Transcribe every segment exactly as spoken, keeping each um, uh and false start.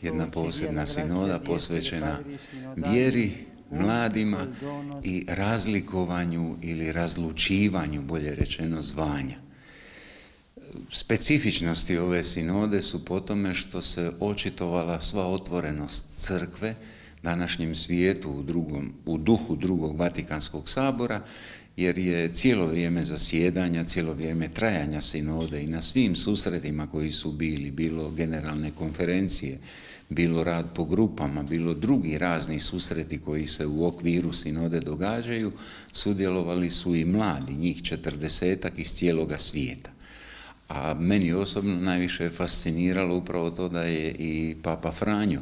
jedna posebna sinoda posvećena vjeri, mladima i razlikovanju ili razlučivanju, bolje rečeno, zvanja. Specifičnosti ove sinode su po tome što se očitovala sva otvorenost crkve današnjem svijetu u, drugom, u duhu drugog Vatikanskog sabora, jer je cijelo vrijeme zasjedanja, cijelo vrijeme trajanja sinode i na svim susretima koji su bili, bilo generalne konferencije, bilo rad po grupama, bilo drugi razni susreti koji se u okviru sinode događaju, sudjelovali su i mladi, njih četrdesetak iz cijeloga svijeta. A meni osobno najviše je fasciniralo upravo to da je i Papa Franjo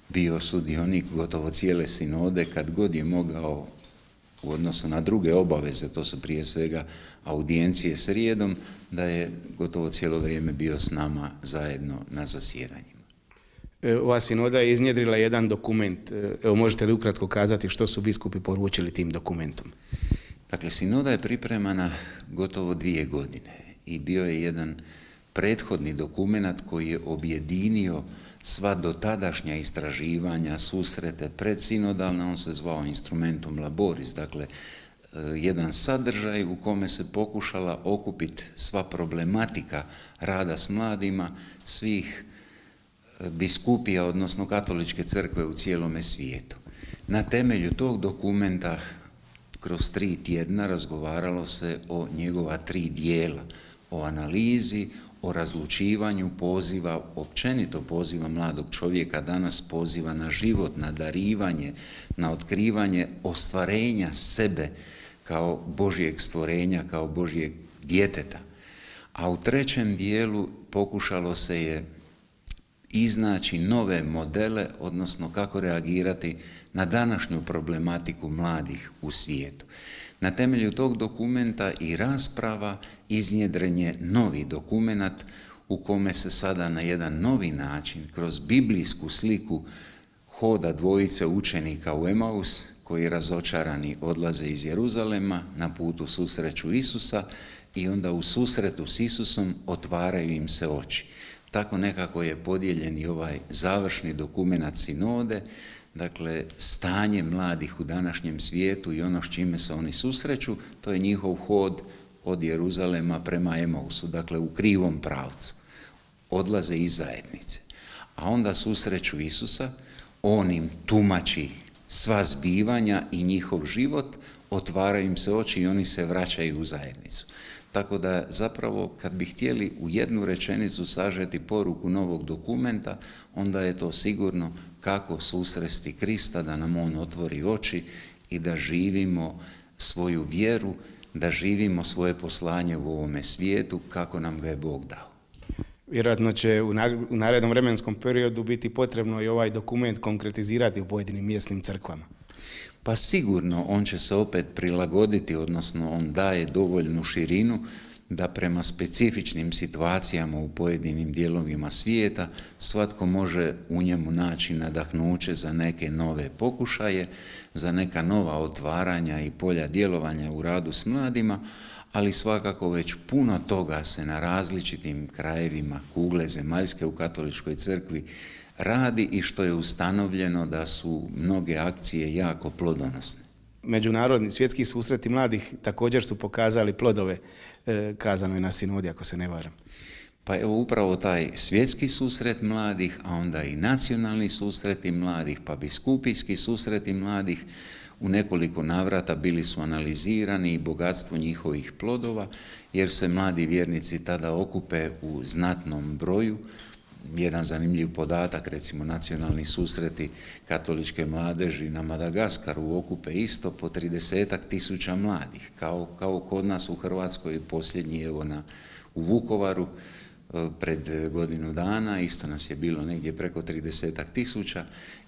bio sudionik gotovo cijele sinode, kad god je mogao u odnosu na druge obaveze, to su prije svega audijencije srijedom, da je gotovo cijelo vrijeme bio s nama zajedno na zasjedanjima. Ova sinoda je iznjedrila jedan dokument. Evo, možete li ukratko kazati što su biskupi poručili tim dokumentom? Dakle, sinoda je pripremana gotovo dvije godine i bio je jedan prethodni dokument koji je objedinio sva dotadašnja istraživanja, susrete predsinodalne, on se zvao Instrumentum Laboris, dakle jedan sadržaj u kome se pokušala okupiti sva problematika rada s mladima svih biskupija, odnosno katoličke crkve u cijelome svijetu. Na temelju tog dokumenta kroz tri tjedna razgovaralo se o njegova tri dijela, o analizi, o razlučivanju poziva, općenito poziva mladog čovjeka, danas poziva na život, na darivanje, na otkrivanje ostvarenja sebe kao Božjeg stvorenja, kao Božjeg djeteta. A u trećem dijelu pokušalo se je iznaći nove modele, odnosno kako reagirati na današnju problematiku mladih u svijetu. Na temelju tog dokumenta i rasprava iznjedren je novi dokument u kome se sada na jedan novi način, kroz biblijsku sliku hoda dvojice učenika u Emaus, koji razočarani odlaze iz Jeruzalema, na putu susreću Isusa i onda u susretu s Isusom otvaraju im se oči. Tako nekako je podijeljen i ovaj završni dokument sinode, dakle stanje mladih u današnjem svijetu i ono s čime se oni susreću, to je njihov hod od Jeruzalema prema Emausu, dakle u krivom pravcu. Odlaze iz zajednice. A onda susreću Isusa, on im tumači sva zbivanja i njihov život, otvaraju im se oči i oni se vraćaju u zajednicu. Tako da zapravo kad bi htjeli u jednu rečenicu sažeti poruku novog dokumenta, onda je to sigurno kako susresti Krista, da nam on otvori oči i da živimo svoju vjeru, da živimo svoje poslanje u ovome svijetu kako nam ga je Bog dao. Vjerojatno će u narednom vremenskom periodu biti potrebno i ovaj dokument konkretizirati u pojedinim mjesnim crkvama. Pa sigurno on će se opet prilagoditi, odnosno on daje dovoljnu širinu da prema specifičnim situacijama u pojedinim dijelovima svijeta svatko može u njemu naći nadahnuće za neke nove pokušaje, za neka nova otvaranja i polja djelovanja u radu s mladima, ali svakako već puno toga se na različitim krajevima kugle zemaljske u katoličkoj crkvi radi i što je ustanovljeno da su mnoge akcije jako plodonosne. Međunarodni svjetski susreti mladih također su pokazali plodove, e, kazano je na sinodi, ako se ne varam. Pa evo upravo taj svjetski susret mladih, a onda i nacionalni susreti mladih, pa biskupijski susreti mladih, u nekoliko navrata bili su analizirani i bogatstvo njihovih plodova, jer se mladi vjernici tada okupe u znatnom broju. Jedan zanimljiv podatak, recimo nacionalni susreti katoličke mladeži na Madagaskaru okupe isto po tridesetak tisuća mladih, kao, kao kod nas u Hrvatskoj, posljednji evo na, u Vukovaru pred godinu dana, isto nas je bilo negdje preko tridesetak tisuća,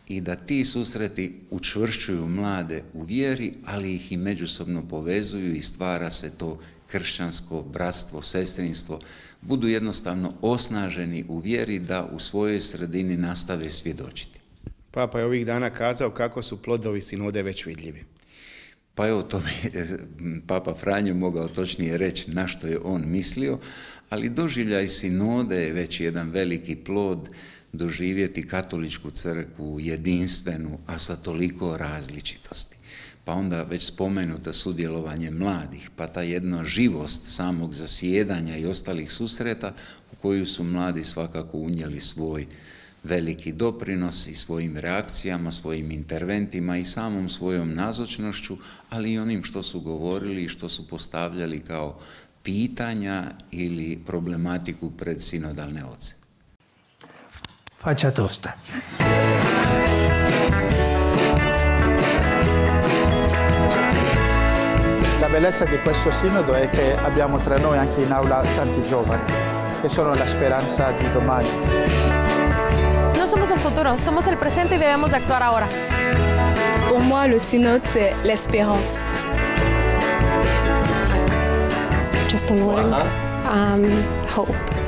i da ti susreti učvršćuju mlade u vjeri, ali ih i međusobno povezuju i stvara se to kršćansko bratstvo, sestrinstvo, budu jednostavno osnaženi u vjeri da u svojoj sredini nastave svjedočiti. Papa je ovih dana kazao kako su plodovi sinode već vidljivi. Pa evo, to bi Papa Franjo mogao točnije reći na što je on mislio, ali doživljaj sinode je već jedan veliki plod doživjeti katoličku crkvu jedinstvenu, a sa toliko različitosti. Pa onda već spomenuto sudjelovanje mladih, pa ta jedna živost samog zasjedanja i ostalih susreta u koju su mladi svakako unijeli svoj veliki doprinos i svojim reakcijama, svojim interventima i samom svojom nazočnošću, ali i onim što su govorili i što su postavljali kao pitanja ili problematiku pred sinodalne oce. Faccia tosta. La bellezza di questo sinodo è che abbiamo tra noi anche in aula tanti giovani, che sono la speranza di domani. No somos el futuro, somos el presente y debemos de actuar ahora. Pour moi, le synode, c'est l'espérance. Just a word. Um, hope.